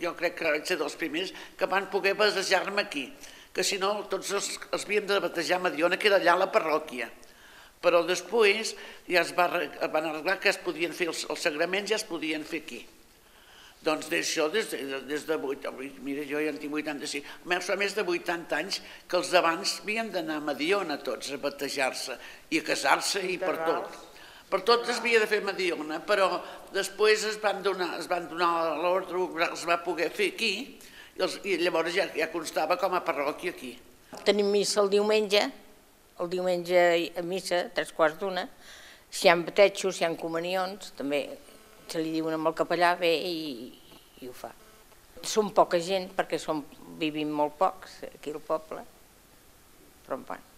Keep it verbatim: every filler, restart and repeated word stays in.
jo crec que vaig ser dels primers que van poder batejar-me aquí, que si no tots els, els havíem de batejar a Mediona, que era allà a la parròquia. Però després ja es, va, es van arreglar que es podien fer els, els sagraments, ja es podien fer aquí. Doncs d'això, des de, des de vuitanta, mira, jo ja en tinc vuitanta-cinc, fa més de vuitanta anys que els d'abans havien d'anar a Mediona tots a batejar-se i a casar-se i per tot. Per tot es havia de fer a Mediona, però després es van donar, es van donar l'ordre, es va poder fer aquí, i, els, i llavors ja, ja constava com a parròquia aquí. Tenim missa el diumenge, el diumenge a missa, tres quarts d'una, si hi ha batejos, si hi ha comunions, també se li diuen amb el capellà, ve i, i ho fa. Som poca gent, perquè som, vivim molt pocs aquí al poble, però en van.